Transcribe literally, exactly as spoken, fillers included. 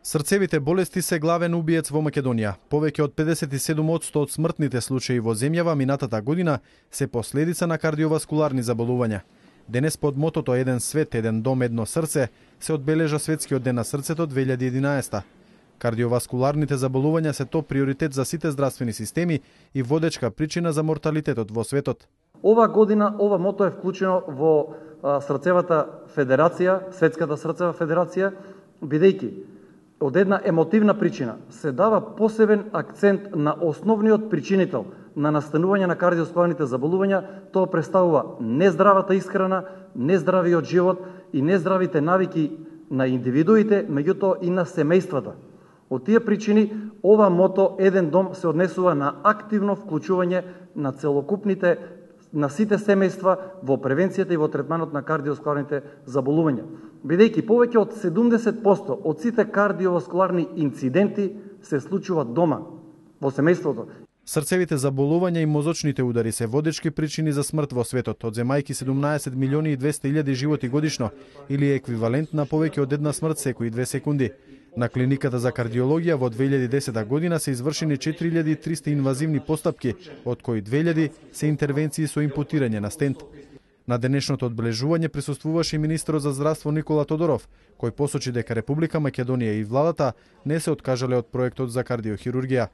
Срцевите болести се главен убиец во Македонија. Повеќе од педесет и седум одсто од смртните случаи во земјава минатата година се последица на кардиоваскуларни заболувања. Денес под мотото Еден свет, еден дом, едно срце се одбележа Светскиот ден на срцето две илјади и единаесета. Кардиоваскуларните заболувања се топ приоритет за сите здравствени системи и водечка причина за морталитетот во светот. Ова година ова мото е вклучено во а, Срцевата федерација, Светската срцева федерација, бидејќи од една емотивна причина се дава посебен акцент на основниот причинител на настанување на кардиоваскуларните заболувања. Тоа представува нездравата исхрана, нездравиот живот и нездравите навики на индивидуите, меѓутоа и на семејствата. Од тие причини ова мото Еден дом се однесува на активно вклучување на целокупните, на сите семејства во превенцијата и во третманот на кардиоваскуларните заболувања. Бидејќи повеќе од седумдесет проценти од сите кардиоваскуларни инциденти се случуваат дома, во семејството. Срцевите заболувања и мозочните удари се водечки причини за смрт во светот, одземајќи седумнаесет милиони и двесте илјади животи годишно, или еквивалент на повеќе од една смрт секои две секунди. На клиниката за кардиологија во две илјади и десета година се извршени четири илјади и триста инвазивни постапки, од кои две илјади се интервенции со импутирање на стент. На денешното одбележување присуствуваше и министерот за здравство Никола Тодоров, кој посочи дека Република Македонија и владата не се откажале од проектот за кардиохирургија.